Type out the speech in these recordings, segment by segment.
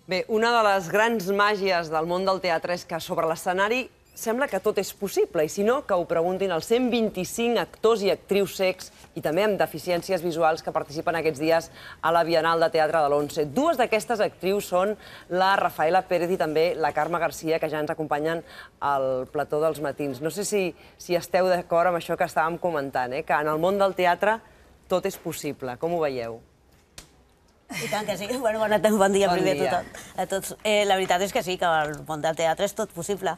Bé, una de les grans màgies del món del teatre és que sobre l'escenari sembla que tot és possible, i si no, que ho preguntin als 125 actors i actrius cecs i també amb deficiències visuals que participen aquests dies a la Bienal de Teatre de l'Once. Dues d'aquestes actrius són la Rafaela Pérez i també la Carme Garcia, que ja ens acompanyen al plató dels matins. No sé si esteu d'acord amb això que estàvem comentant, que en el món del teatre tot és possible. Com ho veieu? I tant que sí. Bon dia primer a tots. La veritat és que sí, que el món del teatre és tot possible.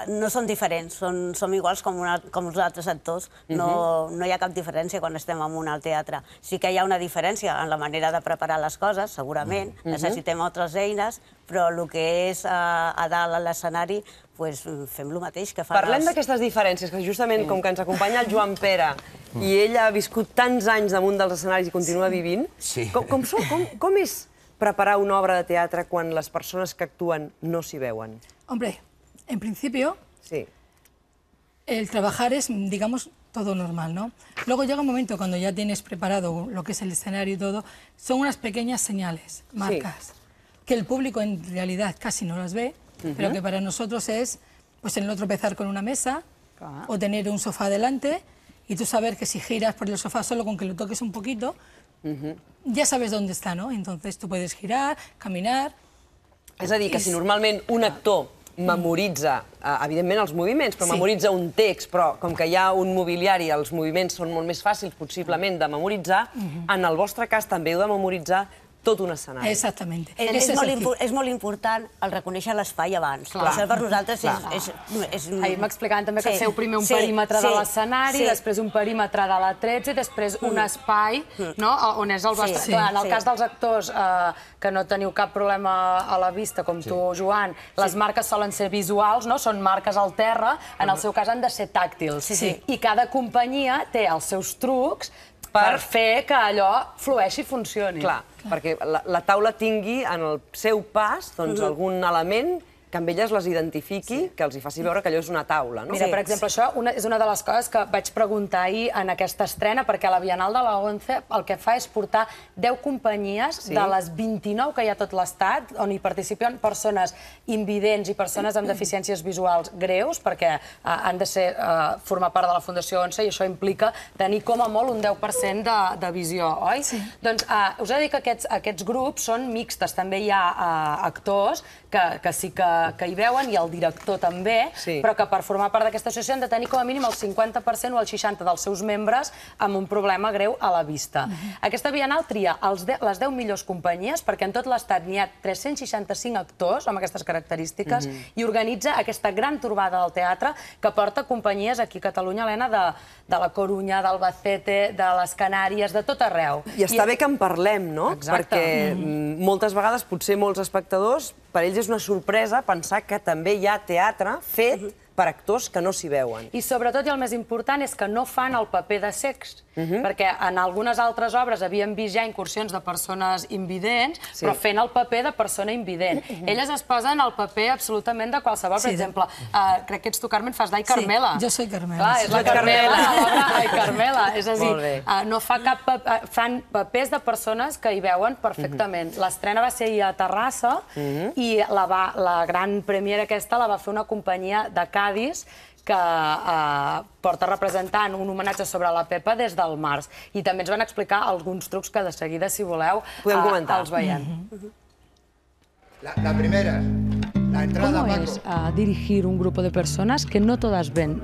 No són diferents, som iguals com els altres actors. No hi ha cap diferència quan estem en un teatre. Sí que hi ha una diferència en la manera de preparar les coses, segurament. Necessitem altres eines, però el que és a dalt a l'escenari, fem el mateix que fa... Parlem d'aquestes diferències, que justament com que ens acompanya el Joan Pere i ell ha viscut tants anys damunt dels escenaris i continua vivint, com és preparar una obra de teatre quan les persones que actúen no s'hi veuen? Hombre, en principio, el trabajar es, digamos, todo normal, ¿no? Luego llega un momento cuando ya tienes preparado lo que es el escenario y todo, son unas pequeñas señales, marcas, que el público en realidad casi no las ve, pero que para nosotros es el no tropezar con una mesa o tener un sofá delante y tú saber que si giras por el sofá solo con que lo toques un poquito, ya sabes dónde está, ¿no? Entonces tú puedes girar, caminar... És a dir, que si normalment un actor memoritza, evidentment, els moviments, però memoritza un text, però com que hi ha un mobiliari, els moviments són molt més fàcils, possiblement, de memoritzar, en el vostre cas també heu de memoritzar tot un escenari. Exactament. És molt important el reconèixer l'espai abans. Això per nosaltres és... Ahir m'explicaven també que feu primer un perímetre de l'escenari, després un perímetre de la 13 i després un espai on és el vostre... Clar, en el cas dels actors que no teniu cap problema a la vista, com tu, Joan, les marques solen ser visuals, són marques al terra, en el seu cas han de ser tàctils. I cada companyia té els seus trucs per fer que allò flueixi i funcioni. Clar, perquè la taula tingui en el seu pas algun element que amb elles les identifiqui, que els hi faci veure que allò és una taula. Mira, per exemple, això és una de les coses que vaig preguntar ahir en aquesta estrena, perquè la Bienal de la ONCE el que fa és portar 10 companyies de les 29 que hi ha a tot l'Estat, on hi participen persones invidents i persones amb deficiències visuals greus, perquè han de formar part de la Fundació ONCE i això implica tenir com a molt un 10% de visió, oi? Doncs us he de dir que aquests grups són mixtes. També hi ha actors que sí que hi veuen, i el director també, però que per formar part d'aquesta associació han de tenir com a mínim el 50% o el 60% dels seus membres amb un problema greu a la vista. Aquesta Bienal tria les 10 millors companyies, perquè en tot l'Estat n'hi ha 365 actors amb aquestes característiques, i organitza aquesta gran torbada del teatre que porta companyies aquí a Catalunya, Helena, de la Corunya, d'Albacete, de les Canàries, de tot arreu. I està bé que en parlem, no? Perquè moltes vegades, potser molts espectadors, per ells és una sorpresa pensar que també hi ha teatre fet per actors que no s'hi veuen. I sobretot, i el més important, és que no fan el paper de cecs, perquè en algunes altres obres havíem vist ja incursions de persones invidents, però fent el paper de persona invident. Elles es posen el paper absolutament de qualsevol. Per exemple, crec que ets tu, Carmen, fas d'Ai Carmela. Sí, jo soy Carmela. És la Carmela, Ai Carmela. És a dir, no fa cap paper... Fan papers de persones que hi veuen perfectament. L'estrena va ser ahir a Terrassa i la gran premiera aquesta la va fer una companyia de Cádiz que porta representant un homenatge sobre la Pepa des del març. I també ens van explicar alguns trucs que de seguida, si voleu, els veiem. La primera, la entrada, ¿Cómo es dirigir un grupo de personas que no todas ven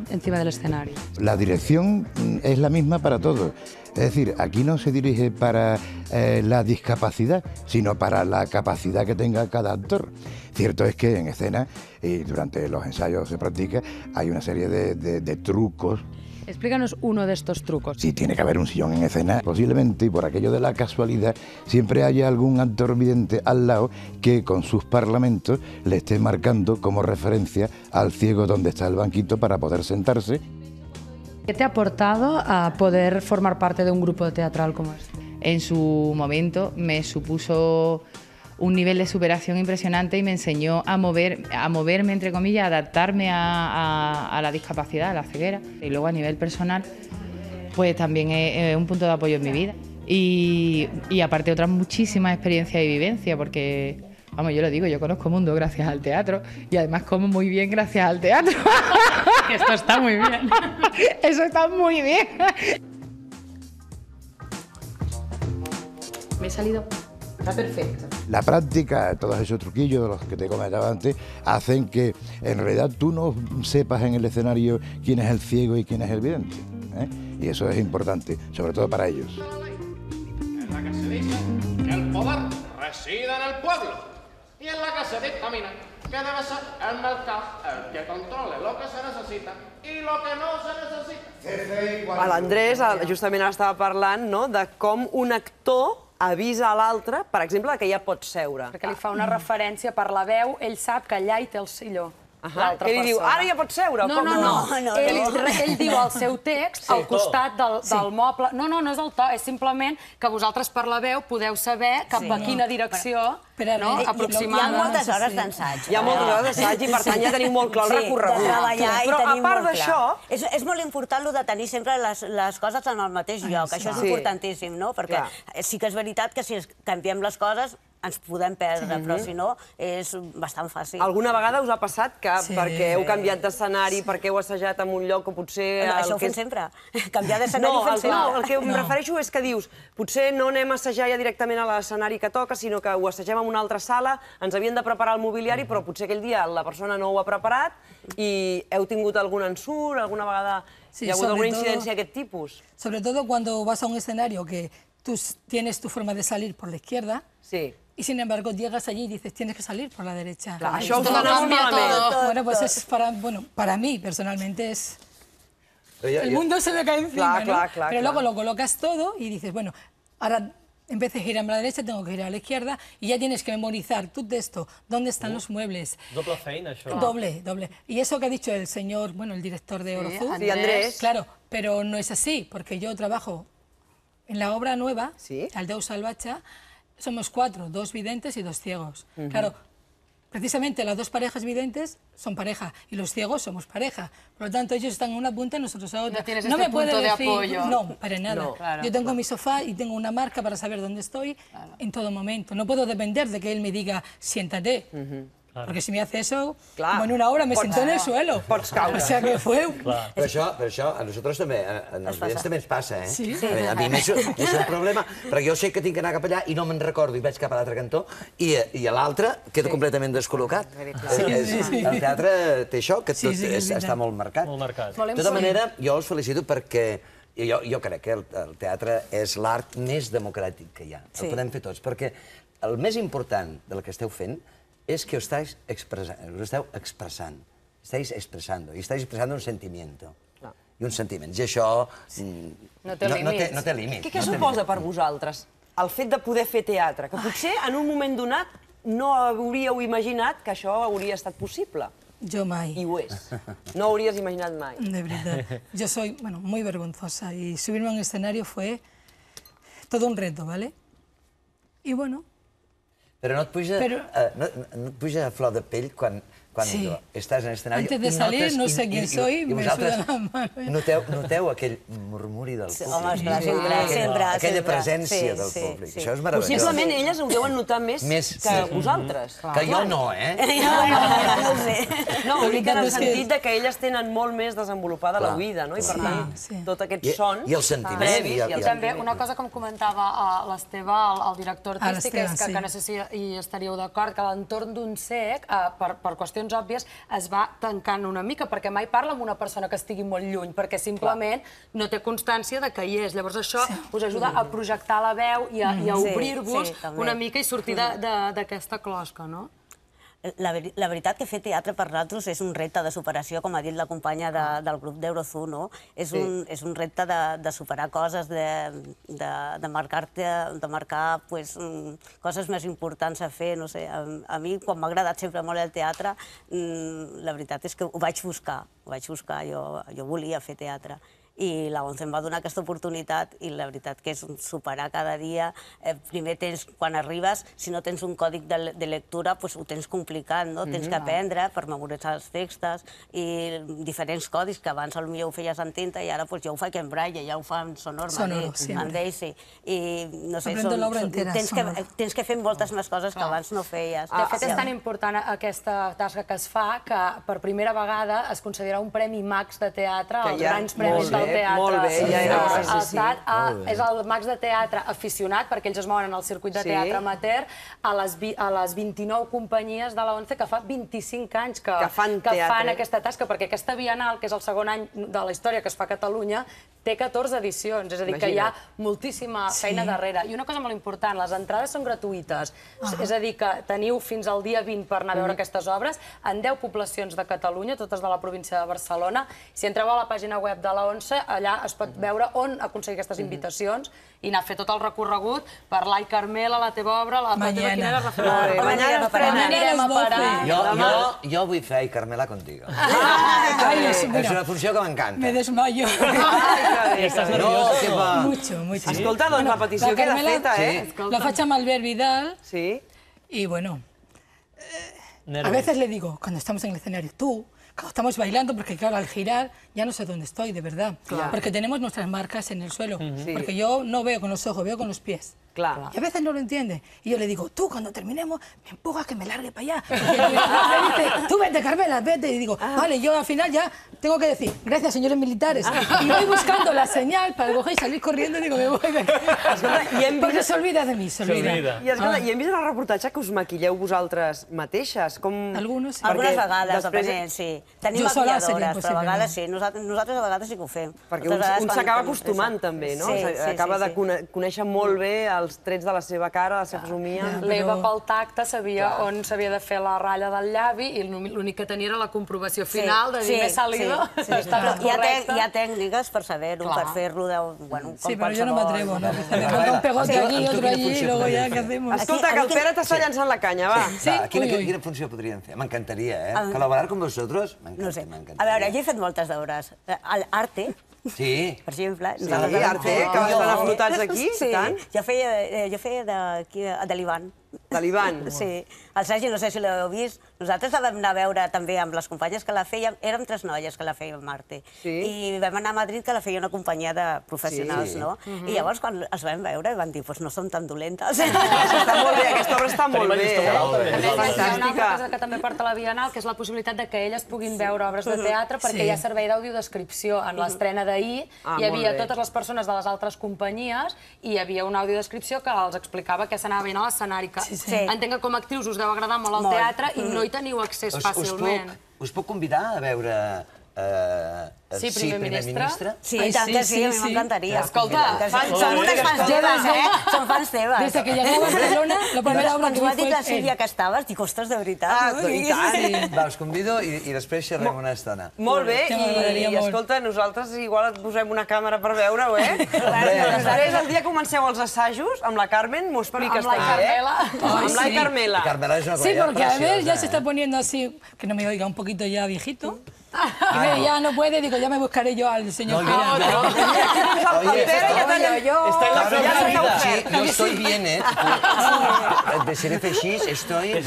encima del escenario? La dirección es la misma para todos. Es decir, aquí no se dirige para la discapacidad, sino para la capacidad que tenga cada actor. Cierto es que en escena, y durante los ensayos se practica, hay una serie de trucos. Explícanos uno de estos trucos. Sí, tiene que haber un sillón en escena, posiblemente, y por aquello de la casualidad, siempre haya algún actor vidente al lado que con sus parlamentos le esté marcando como referencia al ciego donde está el banquito para poder sentarse. ¿Qué te ha aportado a poder formar parte de un grupo teatral como este? En su momento me supuso un nivel de superación impresionante y me enseñó a moverme, entre comillas, a adaptarme a la discapacidad, a la ceguera. Y luego a nivel personal, pues también es un punto de apoyo en mi vida. y aparte otras muchísimas experiencias y vivencias, porque, vamos, yo lo digo, yo conozco mundo gracias al teatro y además como muy bien gracias al teatro. Que esto está muy bien. Eso está muy bien. Me he salido. Está perfecto. La práctica, todos esos truquillos de los que te comentaba antes, hacen que en realidad tú no sepas en el escenario quién es el ciego y quién es el vidente, ¿eh? Y eso es importante, sobre todo para ellos. En la que se dice que el poder reside en el pueblo y en la que se dictamina que debe ser el mercado el que controle lo que se necessita i lo que no se necessita. L'Andrés justament estava parlant, no?, de com un actor avisa a l'altre, per exemple, que ja pot seure. Perquè li fa una referència per la veu, ell sap que allà hi té el silló. Que li diu, ara ja pots seure? No. Ell diu el seu text al costat del moble. No és el to, és simplement que vosaltres per la veu podeu saber cap a quina direcció aproximar. Hi ha moltes hores d'ensaig. Hi ha moltes hores d'ensaig i per tant ja tenim molt clar el recorregut. De treballar i però tenim a part molt clar. d'això... És molt important el de tenir sempre les coses en el mateix lloc. Això és importantíssim, no? Perquè sí que és veritat que si canviem les coses ens podem perdre, però si no és bastant fàcil. Alguna vegada us ha passat que perquè heu canviat d'escenari, perquè heu assajat en un lloc o potser... Això ho fem sempre. Canviar d'escenari ho fem sempre. No, el que em refereixo és que dius, potser no anem a assajar ja directament a l'escenari que toca, sinó que ho assagem en una altra sala, ens havien de preparar el mobiliari, però potser aquell dia la persona no ho ha preparat i heu tingut algun ensurt, alguna vegada hi ha hagut alguna incidència d'aquest tipus? Sobre todo cuando vas a un escenario que tú tienes tu forma de salir por la izquierda, y sin embargo llegas allí y dices, tienes que salir por la derecha. Això us dona molt malament. Bueno, pues es para mí personalmente es... El mundo se me cae encima, ¿no? Pero luego lo colocas todo y dices, bueno, ahora en vez de girar a la derecha, tengo que girar a la izquierda y ya tienes que memorizar tu texto, dónde están los muebles. Doble feina, això. Doble. Y eso que ha dicho el señor, bueno, el director de Orozú. Sí, Andrés. Claro, pero no es así, porque yo trabajo en la obra nueva, al Déu Salvatge, somos 4, 2 videntes y 2 ciegos. Claro, precisamente las 2 parejas videntes son pareja y los ciegos somos pareja. Por lo tanto, ellos están en una punta y nosotros a otra. No tienes este punto de apoyo. No, para nada. Yo tengo mi sofá y tengo una marca para saber dónde estoy en todo momento. No puedo depender de que él me diga, siéntate. Porque si me hace eso, como en una obra me sento en el suelo. O sea que fue... Però això a nosaltres també, als vidents també ens passa, eh? Sí. A mi m'és un problema, perquè jo sé que tinc que anar cap allà i no me'n recordo i vaig cap a l'altre cantó i a l'altre queda completament descol·locat. El teatre té això, que tot està molt marcat. De tota manera, jo us felicito perquè jo crec que el teatre és l'art més democràtic que hi ha. El podem fer tots, perquè el més important del que esteu fent es que os estáis expresando, estáis expresando un sentimiento. I uns sentiments. I això no té límits. Què suposa per vosaltres el fet de poder fer teatre? Que potser en un moment donat no hauríeu imaginat que això hauria estat possible. Yo mai. I ho és. No ho hauries imaginat mai. De verdad. Yo soy, muy vergonzosa y subirme a un escenario fue todo un reto, ¿vale? Y bueno... Però no et puja a flor de pell quan estàs en l'escenari... Antes de salir, no sé quién soy, me suda la mano. Noteu aquell murmuri del públic. Home, esclar, sempre. Aquella presència del públic. Això és meravellós. Possiblement elles ho deuen notar més que vosaltres. Que jo no, eh? No ho sé. No, ho dic en el sentit que elles tenen molt més desenvolupada l'oïda, no? I per tant, tot aquest son... I els sentiments. I també, una cosa que em comentava l'Esteve, el director artístic, és que no sé si hi estaríeu d'acord, que l'entorn d'un cec, per qüestions òbvies, es va tancant una mica, perquè mai parla amb una persona que estigui molt lluny, perquè simplement no té constància de que hi és. Llavors això us ajuda a projectar la veu i a obrir-vos una mica i sortir d'aquesta closca, no? La veritat que fer teatre per nosaltres és un repte de superació, com ha dit la companya del grup d'Eurozoo, no? És un repte de superar coses, de marcar coses més importants a fer, no sé. A mi, quan m'ha agradat sempre molt el teatre, la veritat és que ho vaig buscar, jo volia fer teatre. i la ONCE em va donar aquesta oportunitat i la veritat que és superar cada dia. Primer quan arribes, si no tens un còdic de lectura, ho tens complicat, no? Tens que aprendre per memoritzar els textos i diferents codis que abans potser ho feies en tinta i ara jo ho faig en braille, ja ho fa en Sonor, en Daisy. I no sé, tens que fer moltes més coses que abans no feies. De fet, és tan important aquesta tasca que es fa que per primera vegada es considera un Premi Max de Teatre, els grans premis del teatre. Molt bé, ja era l'estat. És el Max de Teatre aficionat, perquè ells es mouen en el circuit de teatre amateur, a les 29 companyies de la ONCE que fa 25 anys que fan aquesta tasca, perquè aquesta Bienal, que és el segon any de la història que es fa a Catalunya, té 14 edicions, és a dir, que hi ha moltíssima feina darrere. I una cosa molt important, les entrades són gratuïtes, és a dir, que teniu fins al dia 20 per anar a veure aquestes obres en 10 poblacions de Catalunya, totes de la província de Barcelona. Si entreu a la pàgina web de la ONCE, allà es pot veure on aconseguir aquestes invitacions i anar a fer tot el recorregut per l'Ai Carmela, la teva obra, la teva quina era anirem a parar. Jo vull fer Ai Carmela contigo. És una funció que m'encanta. Me desmayo. Estàs nerviosa? Mucho, mucho. Escolta, doncs la petició queda feta, eh? La faig amb Albert Vidal. Sí. Y bueno, a veces le digo, cuando estamos en el escenario, tú, cuando estamos bailando, porque claro, al girar ya no sé dónde estoy, de verdad. Porque tenemos nuestras marcas en el suelo. Porque yo no veo con los ojos, veo con los pies. Claro. Y a veces no lo entiende. Y yo le digo, tú, cuando terminemos, me empujas que me largue para allá. Y me dice, tú vete, Carmela, vete. Y digo, vale, yo al final ya tengo que decir, gracias, señores militares. Y voy buscando la senyal para coger y salir corriendo y digo, me voy de aquí. Porque se olvida de mi, se olvida. I hem vist en el reportatge que us maquilleu vosaltres mateixes. Algunes, sí. Algunes vegades, depenent, sí. Tenim maquilladores, però a vegades sí. Nosaltres a vegades sí que ho fem. Perquè un s'acaba acostumant també, no? Acaba de conèixer molt bé els trets de la seva cara, la seva fesomia. L'Eva pel tacte sabia on s'havia de fer la ratlla del llavi i l'únic que tenia era la comprovació final de dir, m'he salido. Hi ha tècniques per saber-ho, per fer-lo com qualsevol. Sí, però jo no m'atrevo, ¿no? Me pongo un pegote aquí, otro allí, y luego ya, ¿qué hacemos? Escolta, que el Pere t'està llançant la canya, va. Quina funció podríem fer? M'encantaria, eh? Col·laborar amb vosaltres, m'encantaria. A veure, jo he fet moltes d'obres. L'Arte, sí. Per exemple. Sí, Arte, que estan aflotats aquí, tant. Jo feia de l'Ivan. De l'Ivan? Sí. El Sergi, no sé si l'heu vist, nosaltres la vam anar a veure també amb les companyes que la fèiem, érem 3 noies que la fèiem Marte, i vam anar a Madrid que la feia una companyia de professionals, no? I llavors quan els vam veure van dir, doncs no són tan dolentes. Està molt bé, aquesta obra està molt bé. Hi ha una altra cosa que també porta la Bienal, que és la possibilitat que elles puguin veure obres de teatre, perquè hi ha servei d'audiodescripció. En l'estrena d'ahir hi havia totes les persones de les altres companyies i hi havia una audiodescripció que els explicava què s'anava veient a l'escenari. Entenc que com a actrius us deu agradar molt el teatre i no hi teniu accés fàcilment. Us puc convidar a veure Sí, primer ministre? Sí, i tant que sí, a mi m'encantaria. Escolta, som unes fans teves, eh? Som fans teves. Des que llegué a Barcelona, la primera obra que vi fue... Quan m'ho ha dit la Sílvia que estaves, dic, ostres, de veritat. I tant. Va, us convido i després xerrem una estona. Molt bé, i escolta, nosaltres igual et posem una càmera per veure-ho, eh? Després, el dia que comenceu els assajos, amb la Carmen, m'ho expliques també, eh? Amb l'Ai Carmela. Sí, porque a ver, ya se está poniendo así, que no me oiga, un poquito ya viejito. Y ya no puede, digo, ya me buscaré yo al señor. Yo estoy bien, ¿eh? De ser així, estoy...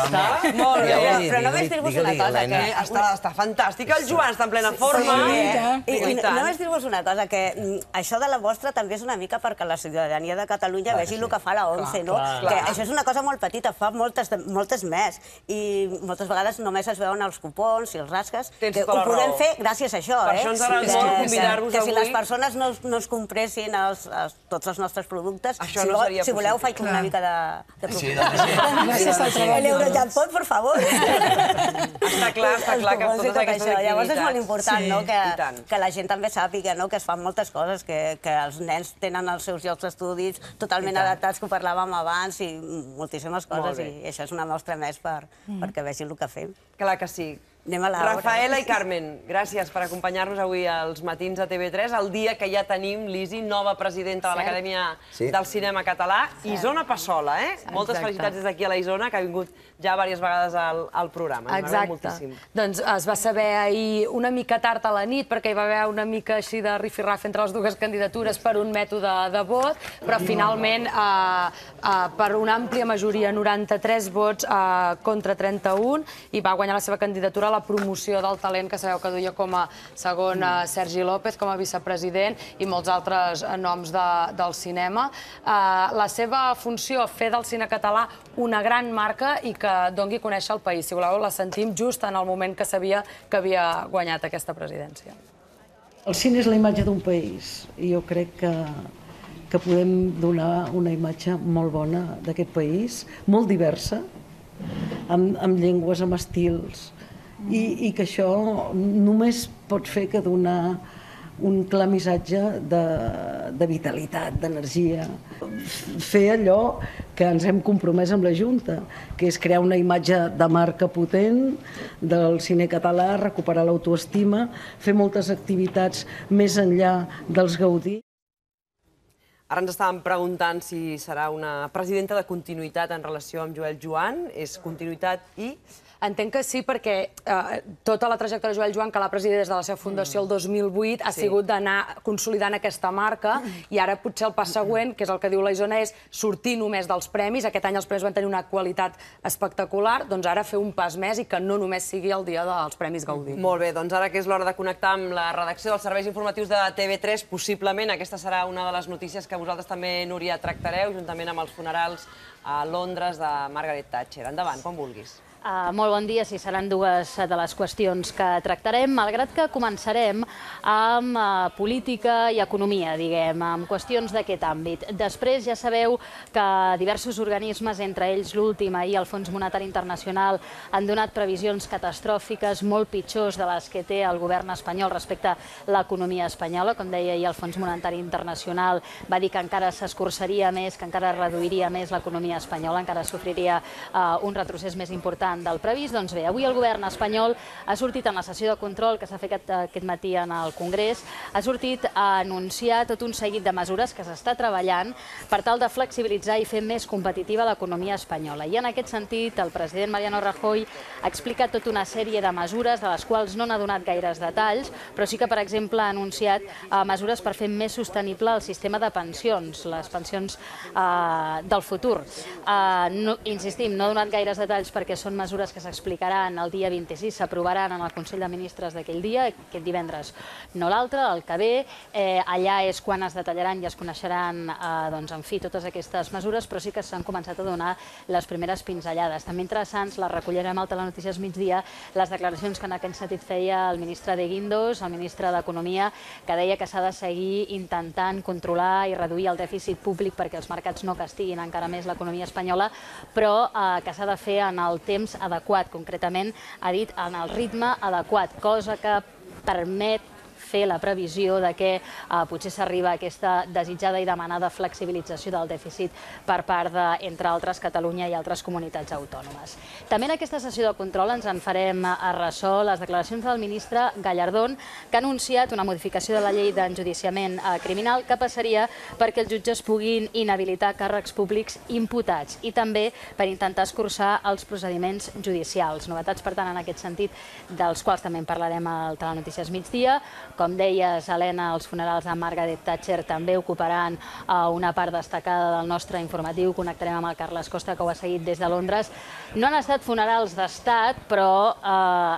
Molt bé. Però només dir-vos una cosa, que... Està fantàstica, el Joan està en plena forma. I només dir-vos una cosa, que això de la vostra també és una mica perquè la ciutadania de Catalunya vegi el que fa la ONCE, no? Que això és una cosa molt petita, fa moltes més. I moltes vegades només es veuen els cupons i els rasques. Ho podem fer gràcies a això, eh? Per això ens agrada molt convidar-vos avui. Que si les persones no es compressin tots els nostres productes, si voleu faig una mica de propaganda. L'Eurojackpot, per favor. Està clar que totes aquestes activitats... Llavors és molt important que la gent també sàpiga que es fan moltes coses, que els nens tenen els seus llocs d'estudis totalment adaptats, que ho parlàvem abans, i moltíssimes coses, i això és una mostra més perquè vegin el que fem. Clar que sí. Anem a l'obra. Rafaela i Carmen, gràcies per acompanyar-nos avui als matins de TV3, el dia que ja tenim l'Isi, nova presidenta de l'Acadèmia del Cinema Català, Isona Passola, eh? Moltes felicitats des d'aquí a la Isona, que ha vingut ja diverses vegades al programa. Exacte. Doncs es va saber ahir una mica tard a la nit, perquè hi va haver una mica així de rifirraf entre les dues candidatures per un mètode de vot, però finalment per una àmplia majoria, 93 vots contra 31, i va guanyar la seva candidatura a la promoció del talent, que sabeu que duia com a segon Sergi López, com a vicepresident, i molts altres noms del cinema. La seva funció, fer del cine català una gran marca i que doni a conèixer el país. Si voleu, la sentim just en el moment que sabia que havia guanyat aquesta presidència. El cine és la imatge d'un país i jo crec que podem donar una imatge molt bona d'aquest país, molt diversa, amb llengües, amb estils, i que això només pot fer que donar un clar missatge de vitalitat, d'energia. Fer allò que ens hem compromès amb la Junta, que és crear una imatge de marca potent del cine català, recuperar l'autoestima, fer moltes activitats més enllà dels Gaudí. Ara ens estàvem preguntant si serà una presidenta de continuïtat en relació amb Joel Joan. És continuïtat i... Entenc que sí, perquè tota la trajectòria de Joel Joan, que l'ha presidit des de la seva fundació el 2008, ha sigut d'anar consolidant aquesta marca, i ara potser el pas següent, que és el que diu la Isona, és sortir només dels premis. Aquest any els premis van tenir una qualitat espectacular, doncs ara fer un pas més i que no només sigui el dia dels Premis Gaudí. Molt bé, doncs ara que és l'hora de connectar amb la redacció dels serveis informatius de TV3, possiblement aquesta serà una de les notícies que vosaltres també, Núria, tractareu, juntament amb els funerals a Londres de Margaret Thatcher. Endavant, quan vulguis. Molt bon dia, sí, seran dues de les qüestions que tractarem, malgrat que començarem amb política i economia, diguem, amb qüestions d'aquest àmbit. Després ja sabeu que diversos organismes, entre ells l'últim, ahir el Fons Monetari Internacional, han donat previsions catastròfiques molt pitjors de les que té el govern espanyol respecte a l'economia espanyola. Com deia ahir el Fons Monetari Internacional, va dir que encara s'escurçaria més, que encara reduiria més l'economia espanyola, encara sofriria un retrocés més important del previst. Doncs bé, avui el govern espanyol ha sortit en la sessió de control que s'ha fet aquest matí en el Congrés, ha sortit a anunciar tot un seguit de mesures que s'està treballant per tal de flexibilitzar i fer més competitiva l'economia espanyola. I en aquest sentit, el president Mariano Rajoy ha explicat tota una sèrie de mesures, de les quals no n'ha donat gaires detalls, però sí que, per exemple, ha anunciat mesures per fer més sostenible el sistema de pensions, les pensions del futur. Insistim, no ha donat gaires detalls perquè són mesures que s'explicaran el dia 26, s'aprovaran en el Consell de Ministres d'aquell dia, aquest divendres, no l'altre, el que ve. Allà és quan es detallaran i es coneixeran, en fi, totes aquestes mesures, però sí que s'han començat a donar les primeres pinzellades. També interessants, les recollirem al Telenotícies Migdia, les declaracions que en aquest sentit feia el ministre de Guindos, el ministre d'Economia, que deia que s'ha de seguir intentant controlar i reduir el dèficit públic perquè els mercats no castiguin encara més l'economia espanyola, però que s'ha de fer en el temps adequat, concretament ha dit en el ritme adequat, cosa que permet fer la previsió de que potser s'arriba a aquesta desitjada i demanada flexibilització del dèficit per part de, entre altres, Catalunya i altres comunitats autònomes. També en aquesta sessió de control ens en farem a ressò les declaracions del ministre Gallardón, que ha anunciat una modificació de la llei d'enjudiciament criminal que passaria perquè els jutges puguin inhabilitar càrrecs públics imputats i també per intentar escurçar els procediments judicials. Novetats, per tant, en aquest sentit, dels quals també en parlarem al Telenotícies Migdia. Com deies, Helena, els funerals de Margaret Thatcher també ocuparan una part destacada del nostre informatiu. Connectarem amb el Carles Costa, que ho ha seguit des de Londres. No han estat funerals d'estat, però,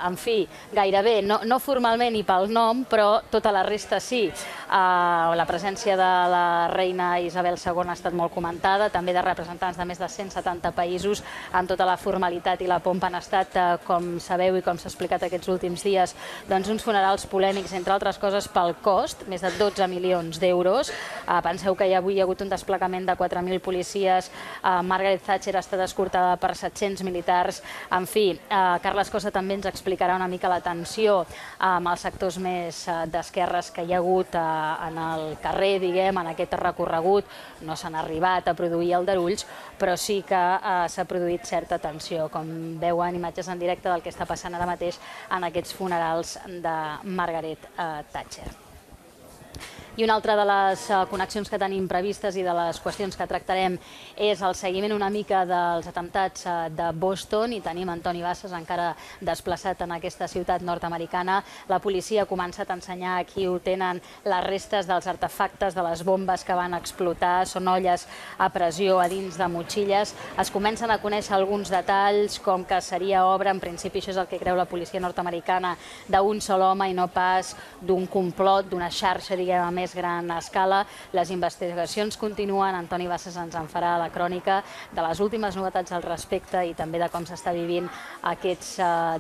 en fi, gairebé, no formalment i pel nom, però tota la resta sí. La presència de la reina Isabel II ha estat molt comentada, també de representants de més de 170 països, amb tota la formalitat i la pompa. Han estat, com sabeu i com s'ha explicat aquests últims dies, doncs uns funerals polèmics, entre altres les coses pel cost, més de 12 milions d'euros. Penseu que avui hi ha hagut un desplegament de 4.000 policies, Margaret Thatcher ha estat escortada per 700 militars. En fi, Carles Costa també ens explicarà una mica la tensió amb els sectors més d'esquerres que hi ha hagut en el carrer, diguem, en aquest recorregut. No s'han arribat a produir aldarulls, però sí que s'ha produït certa tensió, com veuen imatges en directe del que està passant ara mateix en aquests funerals de Margaret Thatcher. I una altra de les connexions que tenim previstes i de les qüestions que tractarem és el seguiment una mica dels atemptats de Boston, i tenim Antoni Bassas encara desplaçat en aquesta ciutat nord-americana. La policia ha començat a ensenyar aquí ho tenen les restes dels artefactes de les bombes que van explotar, són olles a pressió a dins de motxilles. Es comencen a conèixer alguns detalls, com que seria obra, en principi això és el que creu la policia nord-americana, d'un sol home i no pas d'un complot, d'una xarxa, diguem, a més gran escala. Les investigacions continuen. Antoni Bassas ens en farà la crònica de les últimes novetats al respecte i també de com s'està vivint aquests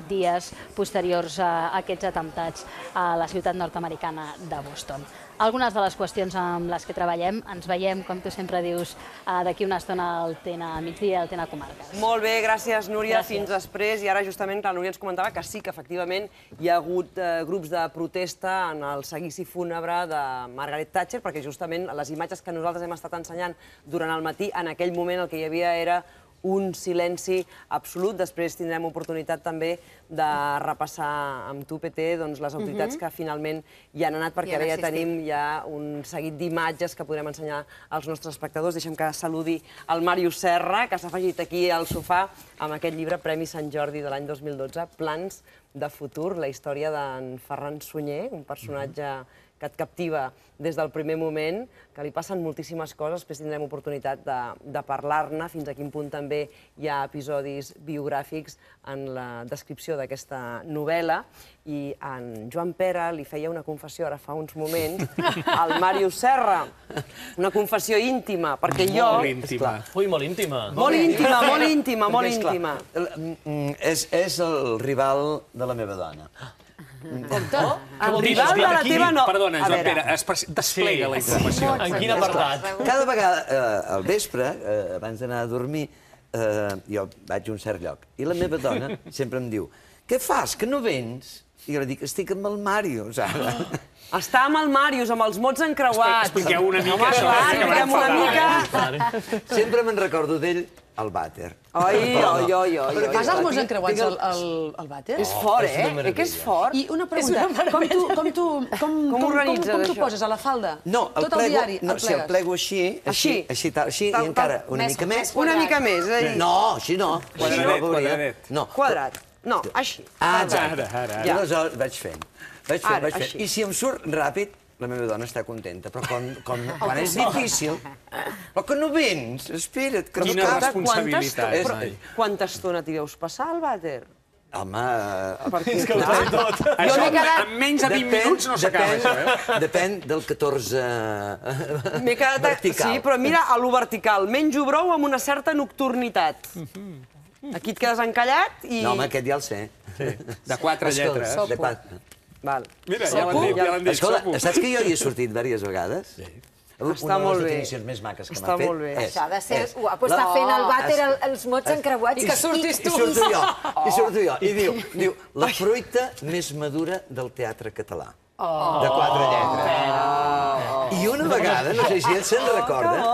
dies posteriors a aquests atemptats a la ciutat nord-americana de Boston. Algunes de les qüestions amb les que treballem. Ens veiem, com tu sempre dius, d'aquí una estona al TENA Migdia, al TENA Comarques. Molt bé, gràcies, Núria. Fins després. I ara, justament, la Núria ens comentava que sí, que efectivament hi ha hagut grups de protesta en el seguici fúnebre de Margaret Thatcher, perquè justament les imatges que nosaltres hem estat ensenyant durant el matí, en aquell moment el que hi havia era un silenci absolut. Després tindrem oportunitat també de repassar amb tu, PT, les autoritats que finalment hi han anat, perquè ara ja tenim un seguit d'imatges que podrem ensenyar als nostres espectadors. Deixem que saludi el Màrius Serra, que s'ha afegit aquí al sofà amb aquest llibre Premi Sant Jordi de l'any 2012, Plans de futur, la història d'en Ferran Sunyer, un personatge que et captiva des del primer moment, que li passen moltíssimes coses. Després tindrem oportunitat de parlar-ne, fins a quin punt també hi ha episodis biogràfics en la descripció d'aquesta novel·la. I en Joan Pere li feia una confessió ara fa uns moments al Màrius Serra, una confessió íntima, perquè jo... Molt íntima. Ui, molt íntima. Molt íntima, molt íntima, molt íntima. És el rival de la meva dona. Compte, el rival de la teva no... Perdona, Joan Pere, desplega la informació. En quin apartat? Cada vegada, al vespre, abans d'anar a dormir, jo vaig a un cert lloc. I la meva dona sempre em diu: què fas, que no vens? I jo li dic: estic amb el Màrius, ara. Està amb el Màrius, amb els mots encreuats. Expliqueu una mica això. Sempre me'n recordo d'ell al vàter. Fas els mots encreuats al vàter? És fort, eh? Que és fort. I una pregunta, com t'ho poses, a la falda? No, tot el diari el plego així, i encara una mica més. Una mica més, és a dir... No, així no. Quadradet. Quadrat. No, així. Exacte. I aleshores vaig fent. I si em surt ràpid, la meva dona està contenta, però quan és difícil... Però que no vens, espera't, que no Quina responsabilitat. Quanta estona t'hi deus passar al vàter? Home... És que ho té tot. Això en menys de 20 minuts no s'acaba, això, eh? Depèn del 14 vertical. Sí, però mira, a lo vertical. Menjo brou amb una certa nocturnitat. Aquí et quedes encallat i... No, home, aquest ja el sé. De 4 lletres. De 4. Mira, ja l'han dit. Escolta, saps que jo hi he sortit diverses vegades? Sí. Està molt bé. Una de les definicions més maques que m'ha fet. Està molt bé. Això ha de ser guapo, està fent al vàter els mots encreuats. I que surtis tu. I surto jo. I diu, la fruita més madura del teatre català. De 4 lletres. I una vegada, no sé si ell se'n recorda,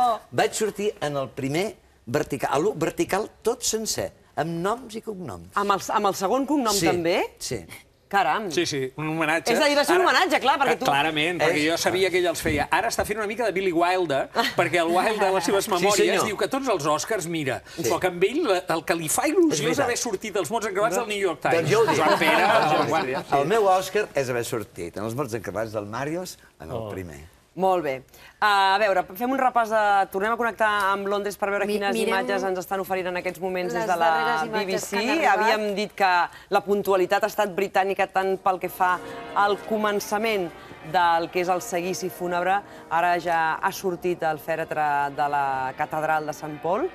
vaig sortir en el primer vertical, vertical tot sencer, amb noms i cognoms. Amb el segon cognom també? Sí. Caram. Sí, un homenatge. És a dir, va ser un homenatge, clar, perquè tu... Clarament, perquè jo sabia que ell els feia. Ara està fent una mica de Billy Wilder, perquè el Wilder, a les seves memòries, diu que tots els Oscars mira, però que amb ell el que li fa il·lusió és haver sortit els mots encreuats del New York Times. Doncs jo ho dic. Joan Pere, el meu Òscar és haver sortit en els mots encreuats del Màrius en el primer. Molt bé. A veure, fem un repàs de... Tornem a connectar amb Londres per veure quines imatges ens estan oferint en aquests moments des de la BBC. Havíem dit que la puntualitat ha estat britànica tant pel que fa al començament del que és el seguici fúnebre. Ara ja ha sortit el fèretre de la catedral de Sant Pol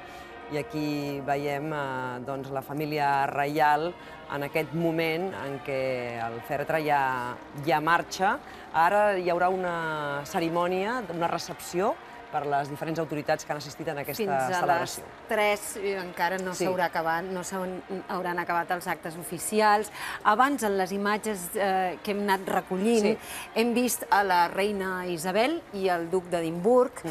i aquí veiem la família reial en aquest moment en què el fèretre ja marxa. Ara hi haurà una cerimònia, una recepció per les diferents autoritats que han assistit en aquesta celebració. Fins a les 3 encara no s'haurà acabat, no s'hauran acabat els actes oficials. Abans, en les imatges que hem anat recollint, hem vist a la reina Isabel i el duc d'Edimburg.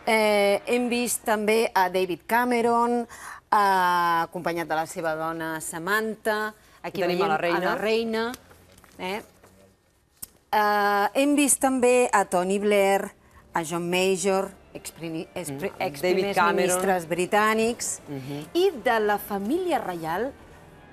Hem vist també a David Cameron, acompanyat de la seva dona Samantha. Aquí veiem a la reina. Hem vist també a Tony Blair, a John Major, exprimers ministres britànics, i de la família reial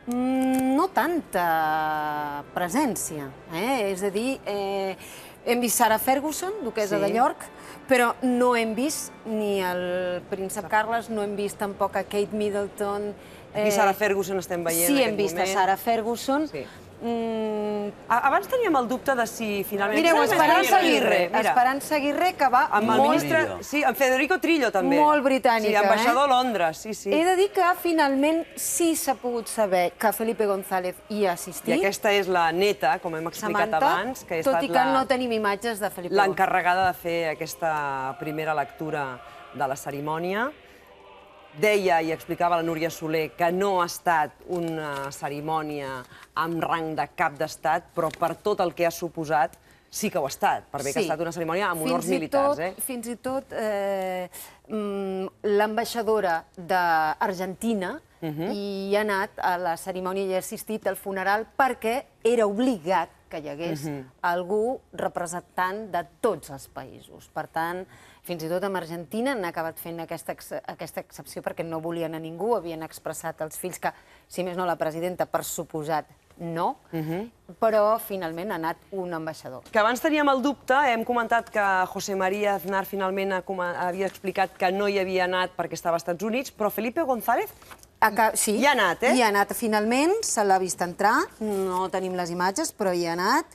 no tanta presència. És a dir, hem vist Sarah Ferguson, duquessa de York, però no hem vist ni el príncep Carles, no hem vist tampoc a Kate Middleton. Aquí Sarah Ferguson estem veient en aquest moment. Sí, hem vist a Sarah Ferguson. Abans teníem el dubte de si finalment... Mireu, Esperança Aguirre. Esperança Aguirre, que va amb el ministre... Sí, amb Federico Trillo, també. Molt britànica, Sí, ambaixador a Londres, sí. He de dir que finalment sí s'ha pogut saber que Felipe González hi ha assistit. I aquesta és la neta, com hem explicat abans, que ha estat tot i que no tenim imatges de Felipe González. L'encarregada de fer aquesta primera lectura de la cerimònia. Deia i explicava la Núria Soler que no ha estat una cerimònia amb rang de cap d'estat, però per tot el que ha suposat sí que ho ha estat, per bé que ha estat una cerimònia amb honors militars. Fins i tot l'ambaixadora d'Argentina hi ha anat a la cerimònia i ha assistit al funeral perquè era obligat que hi hagués algú representant de tots els països. Per tant, fins i tot amb Argentina han acabat fent aquesta excepció perquè no volien a ningú, havien expressat als fills que, si més no la presidenta, per suposat, no, però finalment ha anat un ambaixador. Que abans teníem el dubte, hem comentat que José María Aznar finalment havia explicat que no hi havia anat perquè estava als Estats Units, però Felipe González sí, hi ha anat, hi ha anat finalment, se l'ha vist entrar, no tenim les imatges, però hi ha anat.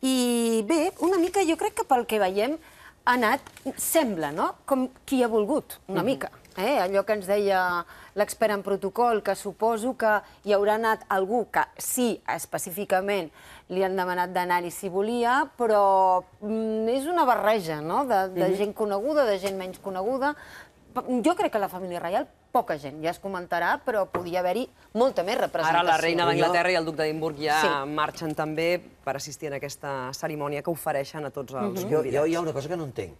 I bé, una mica jo crec que pel que veiem ha anat, sembla, no?, com qui ha volgut, una mica. Allò que ens deia l'expert en protocol, que suposo que hi haurà anat algú que sí, específicament, li han demanat d'anar-hi si volia, però és una barreja, no?, de gent coneguda, de gent menys coneguda. Jo crec que la família reial, poca gent, ja es comentarà, però podia haver-hi molta més representació. Ara la reina d'Anglaterra i el duc d'Edimburg ja marxen també per assistir a aquesta cerimònia que ofereixen a tots els convidats. Jo hi ha una cosa que no entenc.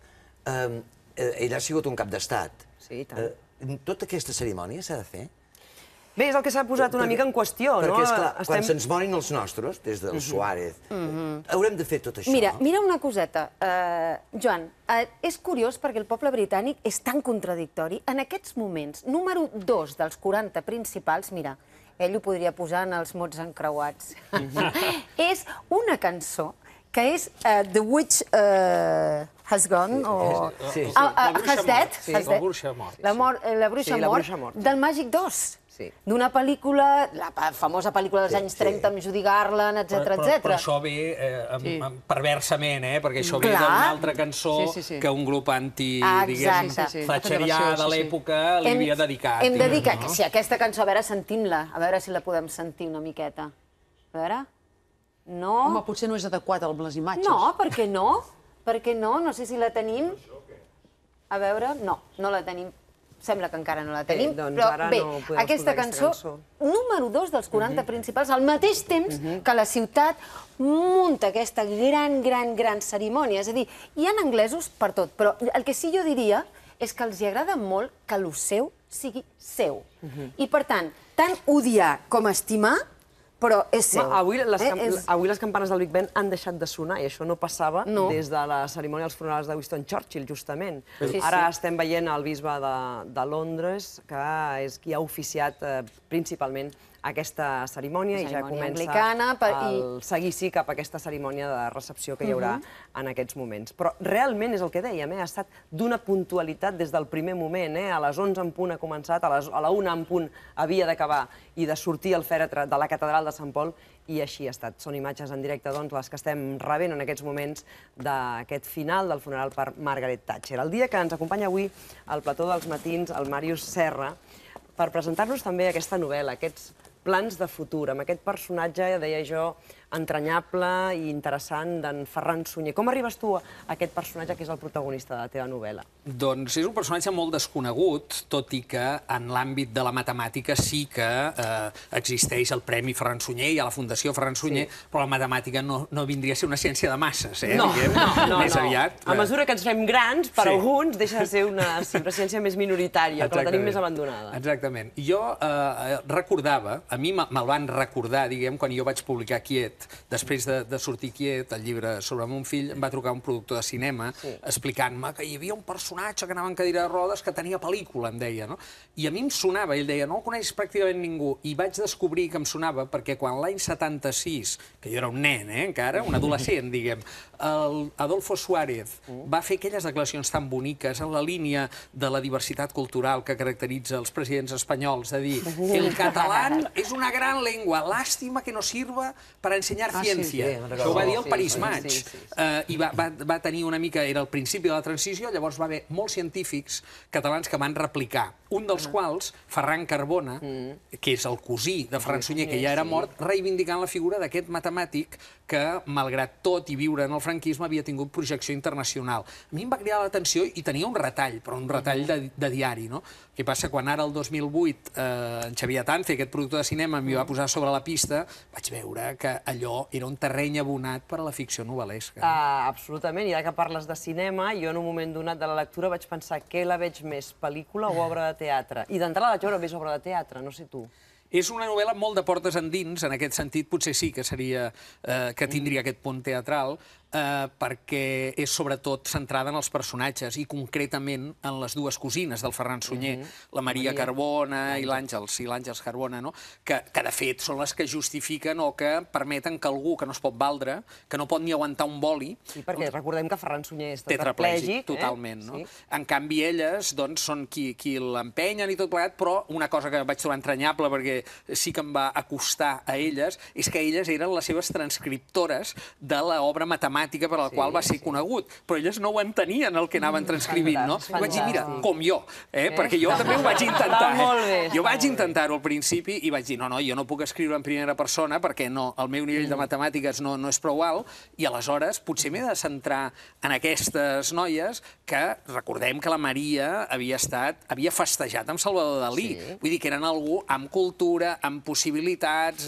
Ell ha sigut un cap d'estat. Sí, i tant. Tota aquesta cerimònia s'ha de fer? Bé, és el que s'ha posat una mica en qüestió, no? Perquè, esclar, quan se'ns morin els nostres, des del Suárez, haurem de fer tot això. Mira una coseta, Joan. És curiós perquè el poble britànic és tan contradictori. En aquests moments, número 2 dels 40 principals, mira, ell ho podria posar en els mots encreuats, és una cançó que és The Witch Has Gone, o Has Dead, la bruixa mort, del Màgic 2. D'una pel·lícula, la famosa pel·lícula dels anys 30 amb Judy Garland, etc. Però això ve perversament, perquè això ve d'una altra cançó que un grup thatcherià de l'època li havia dedicat. Hem de dir que si aquesta cançó, a veure, sentim-la, a veure si la podem sentir una miqueta. A veure... No... Home, potser no és adequat amb les imatges. No, per què no? Per què no? No sé si la tenim. A veure, no, no la tenim. Sembla que encara no la tenim, però bé, aquesta cançó, número 2 dels 40 principals, al mateix temps que la ciutat munta aquesta gran cerimònia. És a dir, hi ha anglesos per tot, però el que sí jo diria és que els agrada molt que el seu sigui seu. I per tant odiar com estimar, però és seu. Avui les campanes del Big Ben han deixat de sonar, i això no passava des de la cerimònia dels funerals de Winston Churchill, justament. Ara estem veient el bisbe de Londres, que és qui ha oficiat principalment aquesta cerimònia, i ja comença el seguici cap a aquesta cerimònia de recepció que hi haurà en aquests moments. Però realment és el que dèiem, ha estat d'una puntualitat des del primer moment. A les 11 en punt ha començat, a la 1 en punt havia d'acabar i de sortir el fèretre de la catedral de Sant Pol, i així ha estat. Són imatges en directe, doncs, les que estem rebent en aquests moments d'aquest final del funeral per Margaret Thatcher. El dia que ens acompanya avui al plató dels matins el Màrius Serra, per presentar-nos també aquesta novel·la, aquests plans de futur, amb aquest personatge, deia jo, entranyable i interessant d'en Ferran Sunyer. Com arribes tu a aquest personatge que és el protagonista de la teva novel·la? Doncs és un personatge molt desconegut, tot i que en l'àmbit de la matemàtica sí que existeix el Premi Ferran Sunyer, hi ha la Fundació Ferran Sunyer, però la matemàtica no vindria a ser una ciència de masses, diguem, més aviat. A mesura que ens fem grans, per alguns deixa de ser una ciència més minoritària, que la tenim més abandonada. Exactament. Jo recordava, a mi me'l van recordar, diguem, quan jo vaig publicar Quiet. Després de sortir Quiet, el llibre sobre mon fill, em va trucar un productor de cinema explicant-me que hi havia un personatge que anava en cadira de rodes que tenia pel·lícula, em deia, no? I a mi em sonava, ell deia, no el coneix pràcticament ningú, i vaig descobrir que em sonava perquè quan l'any 76, que jo era un nen, encara, un adolescent, diguem, Adolfo Suárez va fer aquelles declaracions tan boniques en la línia de la diversitat cultural que caracteritza els presidents espanyols, de dir, el català és una gran llengua, lástima que no sirva para ensenyar ciència. Això ho va dir el París Match. I va tenir una mica, era el principi de la transició, llavors va haver molts científics catalans que van replicar, un dels quals, Ferran Carbona, que és el cosí de Ferran Sunyer, que ja era mort, reivindicant la figura d'aquest matemàtic que, malgrat tot i viure en el franquisme, havia tingut projecció internacional. A mi em va cridar l'atenció i tenia un retall, però un retall de diari, no? El que passa, quan ara, el 2008, en Xavier Atance, aquest productor de cinema, m'hi va posar sobre la pista, vaig veure que allò era un terreny abonat per a la ficció novel·lesca. Absolutament, i ara que parles de cinema, jo en un moment donat de la lectura vaig pensar què la veig més, pel·lícula o obra de teatre? I d'entrada vaig veure més obra de teatre, no sé tu. És una novel·la molt de portes endins, en aquest sentit potser sí que seria que tindria aquest punt teatral, perquè és sobretot centrada en els personatges i concretament en les dues cosines del Ferran Sunyer, la Maria Carbona i l'Àngels Carbona, que de fet són les que justifiquen o que permeten que algú que no es pot valdre, que no pot ni aguantar un boli... Sí, perquè recordem que Ferran Sunyer és tetraplègic. Totalment, no? En canvi, elles són qui l'empenyen i tot plegat, però una cosa que vaig trobar entranyable, perquè sí que em va acostar a elles, és que elles eren les seves transcriptores de l'obra matemàtica per la qual va ser conegut, però elles no ho entenien el que anaven transcrivint, no? I vaig dir, mira, com jo, perquè jo també ho vaig intentar. Jo vaig intentar-ho al principi i vaig dir, no, jo no puc escriure en primera persona perquè el meu nivell de matemàtiques no és prou alt i aleshores potser m'he de centrar en aquestes noies que recordem que la Maria havia festejat amb Salvador Dalí. Vull dir que eren algú amb cultura, amb possibilitats,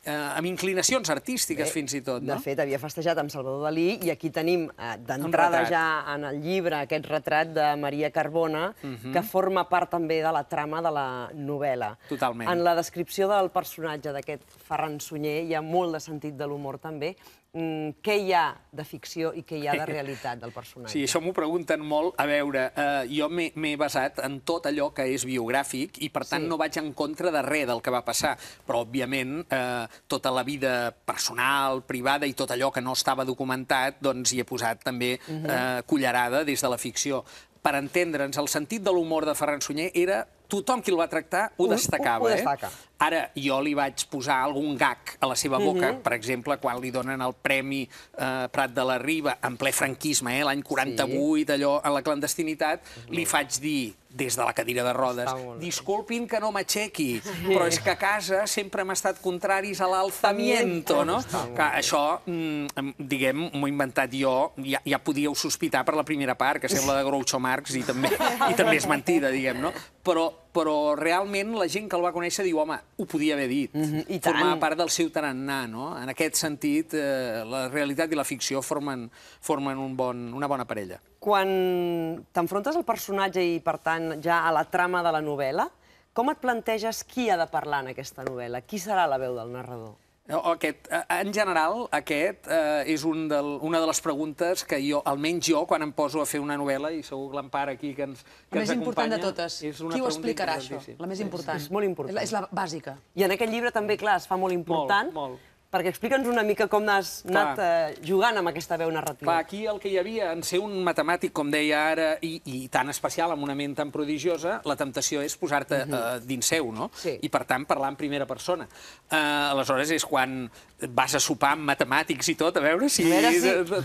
amb inclinacions artístiques fins i tot. De fet, havia festejat amb Salvador Dalí i aquí tenim d'entrada ja en el llibre aquest retrat de Maria Carbona que forma part també de la trama de la novel·la. Totalment. En la descripció del personatge d'aquest Ferran Sunyer hi ha molt de sentit de l'humor també. Què hi ha de ficció i què hi ha de realitat del personatge? Sí, això m'ho pregunten molt. A veure, jo m'he basat en tot allò que és biogràfic i, per tant, no vaig en contra de res del que va passar. Però, òbviament, tota la vida personal, privada i tot allò que no estava documentat, doncs hi he posat també cullerada des de la ficció. Per entendre'ns, el sentit de l'humor de Ferran Sunyer era tothom qui el va tractar ho destacava. Ara, jo li vaig posar algun gag a la seva boca, per exemple, quan li donen el Premi Prat de la Riba, en ple franquisme, l'any 48, allò, en la clandestinitat, li faig dir, des de la cadira de rodes, disculpin que no m'aixequi, però és que a casa sempre hem estat contraris a l'alzamiento, no? Això, diguem, m'ho he inventat jo, ja podíeu sospitar per la primera part, que sembla de Groucho Marx i també és mentida, diguem, no? Però realment la gent que el va conèixer diu, home, ho podia haver dit. Formava part del seu tarannà, no? En aquest sentit, la realitat i la ficció formen una bona parella. Quan t'enfrontes al personatge i, per tant, ja a la trama de la novel·la, com et planteges qui ha de parlar en aquesta novel·la? Qui serà la veu del narrador? En general, aquest és una de les preguntes que jo, almenys jo, quan em poso a fer una novel·la, i segur que l'Empar aquí que ens acompanya... La més important de totes. Qui ho explicarà, això? La més important. És molt important. És la bàsica. I en aquest llibre també, clar, es fa molt important, Perquè explica'ns una mica com has anat jugant amb aquesta veu narrativa. Clar, aquí el que hi havia, en ser un matemàtic, com deia ara, i tan especial, amb una ment tan prodigiosa, la temptació és posar-te dins seu, no? I, per tant, parlar en primera persona. Aleshores, és quan vas a sopar amb matemàtics i tot, a veure si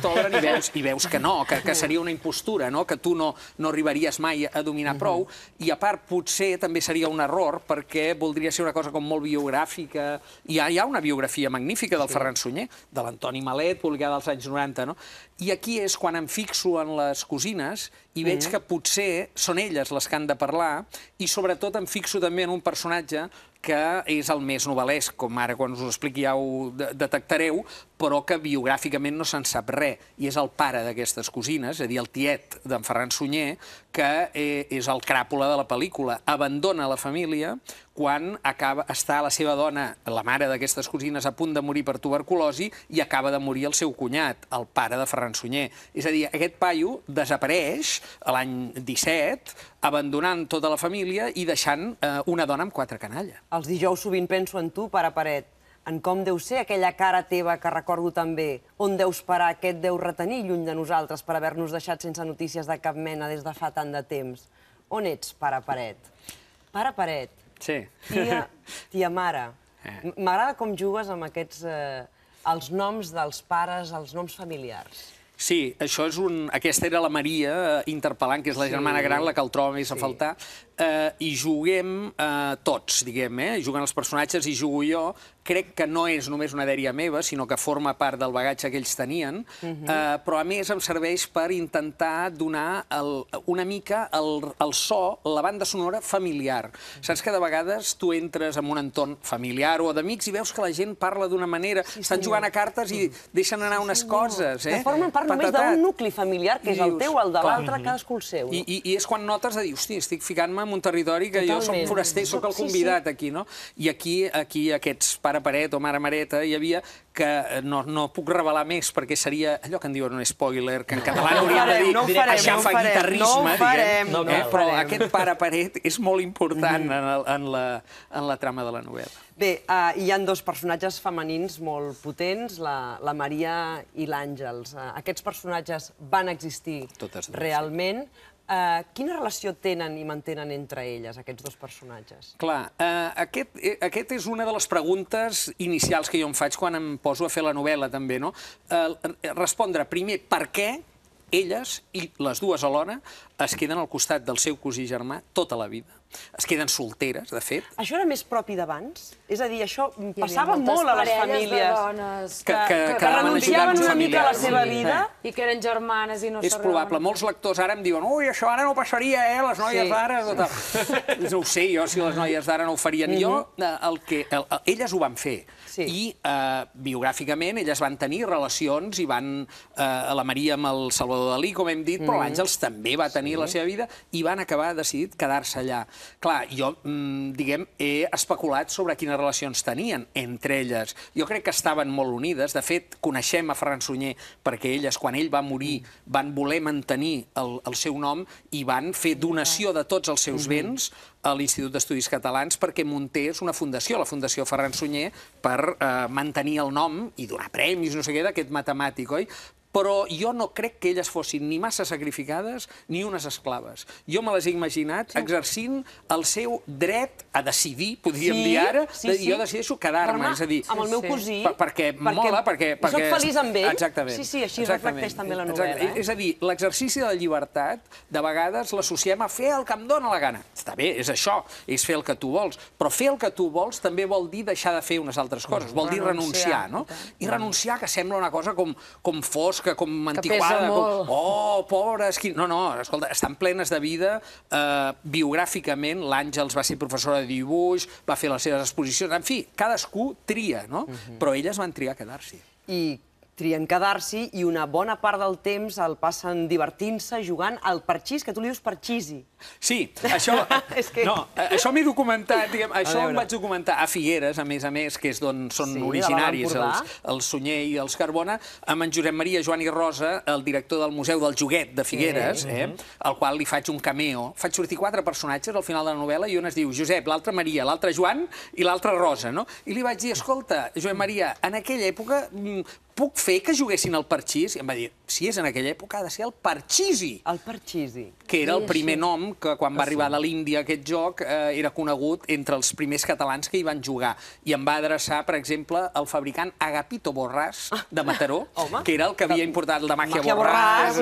t'obren i veus que no, que seria una impostura, que tu no arribaries mai a dominar prou, i a part potser també seria un error perquè voldria ser una cosa com molt biogràfica. Hi ha una biografia magnífica del Ferran Sunyer, de l'Antoni Malet, publicada als anys 90, no? I aquí és quan em fixo en les cosines i veig que potser són elles les que han de parlar, i sobretot em fixo també en un personatge que és el més novel·lesc, com ara quan us ho expliqui ja ho detectareu, però que biogràficament no se'n sap res, i és el pare d'aquestes cosines, és a dir, el tiet d'en Ferran Sunyer, que és el cràpula de la pel·lícula. Abandona la família quan està la seva dona, la mare d'aquestes cosines, a punt de morir per tuberculosi, i acaba de morir el seu cunyat, el pare de Ferran Sunyer. És a dir, aquest paio desapareix l'any 17, abandonant tota la família i deixant una dona amb 4 canalles. Els dijous sovint penso en tu, pare Paret, en com deu ser aquella cara teva que recordo tan bé, on deus parar, què et deu retenir lluny de nosaltres per haver-nos deixat sense notícies de cap mena des de fa tant de temps. On ets, pare Paret? Pare Paret. Sí. Tia mare. M'agrada com jugues amb aquests... els noms dels pares, els noms familiars. Sí, això és aquesta era la Maria interpel·lant, que és la germana gran, la que el troba més a faltar, i juguem tots, diguem, juguen els personatges i jugo jo. Crec que no és només una dèria meva, sinó que forma part del bagatge que ells tenien, però a més em serveix per intentar donar una mica el so, la banda sonora familiar. Saps que de vegades tu entres en un entorn familiar o d'amics i veus que la gent parla d'una manera, estan jugant a cartes i deixen anar unes coses. Que formen part només d'un nucli familiar, que és el teu, el de l'altre, cadascú el seu. I és quan notes de dir, hosti, estic ficant-me en un territori que jo soc foraster, soc el convidat aquí, no? I aquí aquests pare Paret o mare Mareta hi havia que no puc revelar més perquè seria allò que en diuen un spoiler, que en català hauríem de dir aixafaguitarrisme, però aquest pare Paret és molt important en la trama de la novel·la. Bé, hi ha 2 personatges femenins molt potents, la Maria i l'Àngels. Aquests personatges van existir realment. Quina relació tenen i mantenen entre elles, aquests 2 personatges? Clar, aquest és una de les preguntes inicials que jo em faig quan em poso a fer la novel·la, també, no? Respondre primer per què elles, i les dues alhora, es queden al costat del seu cosí germà tota la vida. Es queden solteres, de fet. Això era més propi d'abans? És a dir, això passava molt a les famílies. Que renunciaven una mica a la seva vida. I que eren germanes i no s'arreglaven. És probable. Molts lectors ara em diuen ui, això ara no passaria, les noies d'ara... No ho sé jo si les noies d'ara no ho farien. Elles ho van fer. I biogràficament elles van tenir relacions i van... La Maria amb el Salvador Dalí, com hem dit, però l'Àngels també va tenir la seva vida i van acabar decidit quedar-se allà. Clar, jo, diguem, he especulat sobre quines relacions tenien entre elles. Jo crec que estaven molt unides. De fet, coneixem a Ferran Sunyer perquè elles, quan ell va morir, van voler mantenir el seu nom i van fer donació de tots els seus béns a l'Institut d'Estudis Catalans perquè muntés una fundació, la Fundació Ferran Sunyer, per mantenir el nom i donar premis, no sé què, d'aquest matemàtic, oi? Però jo no crec que elles fossin ni massa sacrificades ni unes esclaves. Jo me les he imaginat exercint el seu dret a decidir, podríem dir ara, jo decideixo quedar-me, és a dir... Amb el meu cosí... Perquè mola, perquè... Soc feliç amb ell. Exactament. Sí, així reflecteix també la novel·la. És a dir, l'exercici de la llibertat, de vegades l'associem a fer el que em dóna la gana. Està bé, és això, és fer el que tu vols, però fer el que tu vols també vol dir deixar de fer unes altres coses, vol dir renunciar, no? I renunciar, que sembla una cosa com fosca, com antiquada, oh, pobres... No, escolta, estan plenes de vida. Biogràficament, l'Àngels va ser professora de dibuix, va fer les seves exposicions, en fi, cadascú tria, no? Però elles van triar quedar-s'hi. I trien quedar-s'hi i una bona part del temps el passen divertint-se, jugant al parxís, que tu li dius parxisi. Sí, això... No, això m'he documentat, això em vaig documentar a Figueres, a més, que és d'on són originaris el Sunyer i els Carbona, amb en Josep Maria Joan i Rosa, el director del Museu del Joguet de Figueres, al qual li faig un cameo. Faig sortir 4 personatges al final de la novel·la i un es diu Josep, l'altre Maria, l'altre Joan i l'altre Rosa, no? I li vaig dir, escolta, Josep Maria, en aquella època puc fer que juguessin al parxís? I em va dir, si és en aquella època ha de ser el parxisi. El parxisi. Que era el primer nom que quan va arribar de l'Índia aquest joc era conegut entre els primers catalans que hi van jugar. I em va adreçar, per exemple, el fabricant Agapito Borràs de Mataró, que era el que havia importat el de Màgia Borràs.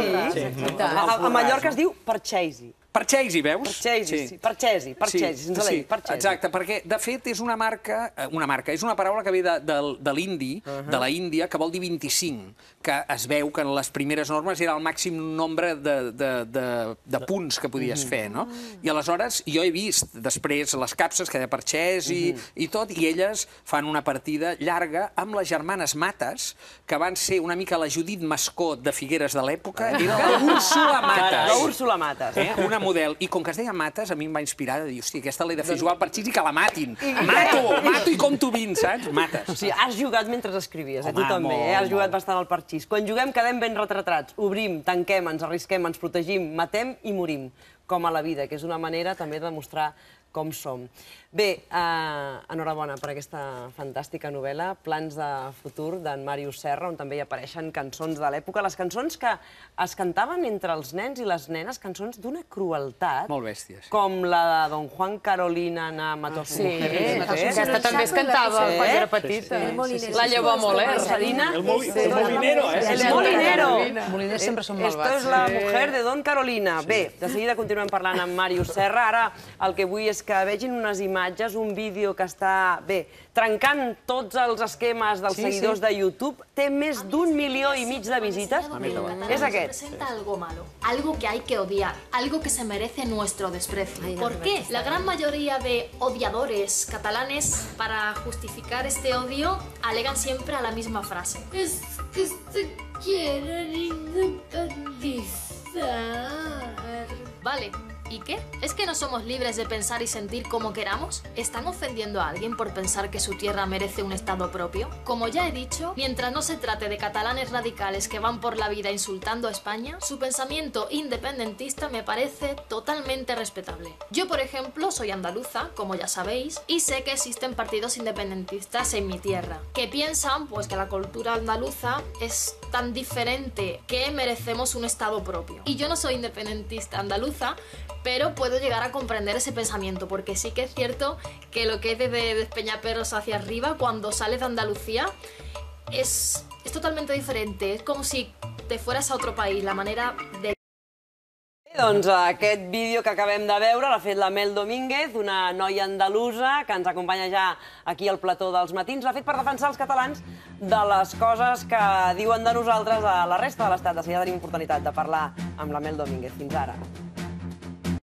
A Mallorca es diu parxesi. Parxesi, veus? Parxesi, sense l'I, parxesi. Exacte, perquè, de fet, és una marca, és una paraula que ve de l'indi, de la Índia, que vol dir 25, que es veu que en les primeres normes era el màxim nombre de punts que podies fer, no? I aleshores jo he vist després les capses que de parxesi i tot, i elles fan una partida llarga amb les germanes Mates, que van ser una mica la Judit Mascot de Figueres de l'època, era la Úrsula Mates. La Úrsula Mates. Una model. I com que es deia Mates, a mi em va inspirar de dir, hòstia, aquesta l'he de fer jugar al parxís i que la matin. Mato i compto 20, saps? Mates. O sigui, has jugat mentre escrivies, tu també, has jugat bastant al parxís. Quan juguem quedem ben retratats, obrim, tanquem, ens arrisquem, ens protegim, matem i morim, com a la vida, que és una manera també de demostrar com som. Bé, enhorabona per aquesta fantàstica novel·la, Plans de futur, d'en Màrius Serra, on també hi apareixen cançons de l'època, les cançons que es cantaven entre els nens i les nenes, cançons d'una crueltat. Molt bèsties. Com la de Don Juan Carolina na Matos Mujeres. Aquesta també es cantava quan era petita. La llavor Moler. El molinero, eh? El molinero. Els moliners sempre són malvats. Esto es la mujer de Don Carolina. Bé, de seguida continuem parlant amb Màrius Serra. Ara el que vull és que vegin unes imatges, un vídeo que està, bé, trencant tots els esquemes dels seguidors de YouTube. Té més d'1,5 milió de visites. És aquest. Representa algo malo, algo que hay que odiar, algo que se merece nuestro desprecio. ¿Por qué? La gran mayoría de odiadores catalanes, para justificar este odio, alegan siempre a la misma frase. Es que se quieren independizar. Vale. ¿Y qué? ¿Es que no somos libres de pensar y sentir como queramos? ¿Están ofendiendo a alguien por pensar que su tierra merece un estado propio? Como ya he dicho, mientras no se trate de catalanes radicales que van por la vida insultando a España, su pensamiento independentista me parece totalmente respetable. Yo, por ejemplo, soy andaluza, como ya sabéis, y sé que existen partidos independentistas en mi tierra, que piensan pues que la cultura andaluza es tan diferente que merecemos un estado propio. Y yo no soy independentista andaluza, pero puedo llegar a comprender ese pensamiento, porque sí que es cierto que lo que es de Despeñaperros hacia arriba, cuando sales de Andalucía, es totalmente diferente. Es como si te fueras a otro país, la manera de... Doncs aquest vídeo que acabem de veure l'ha fet la Mel Domínguez, una noia andalusa que ens acompanya ja aquí al plató dels matins. L'ha fet per defensar els catalans de les coses que diuen de nosaltres a la resta de l'Estat. De seguida tenim oportunitat de parlar amb la Mel Domínguez. Fins ara.